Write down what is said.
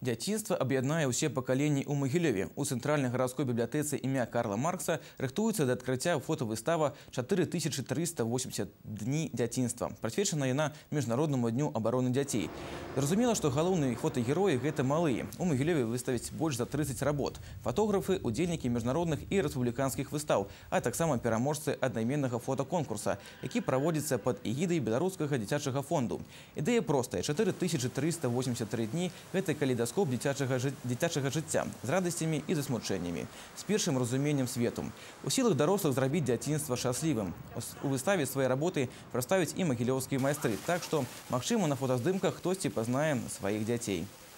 Дзяцінства аб'яднае ўсе пакаленні ў Магілёве. У цэнтральнай гарадской бібліятэцы імя Карла Маркса рыхтуецца да адкрыцця фотавыстава 4380 дні дзяцінства. Прысвечана яна Міжнароднаму дню абароны дзяцей. Зразумела, што галоўныя фотагероі гэта малыя. У Магілёве выставяць больш за 30 работ. Фотографы, удзельнікі міжнародных і рэспубліканскіх выстаў, а таксама пераможцы аднайменнага фотаконкурса, які праводзіцца пад эгідай Беларускага дзіцячага фонду. Ідэя простая. 4383 дні – гэта калейдаскоп дзіцячага жыцця з радасцямі і засмучэннямі, з першым разуменнем свету. У сілах дарослых зрабіць дзяцінства шчаслівым. У выставе свае работы прадставяць і магілёўскія майстры, так што, магчыма, на фотаздымках хтосьці пазнае сваіх дзяцей.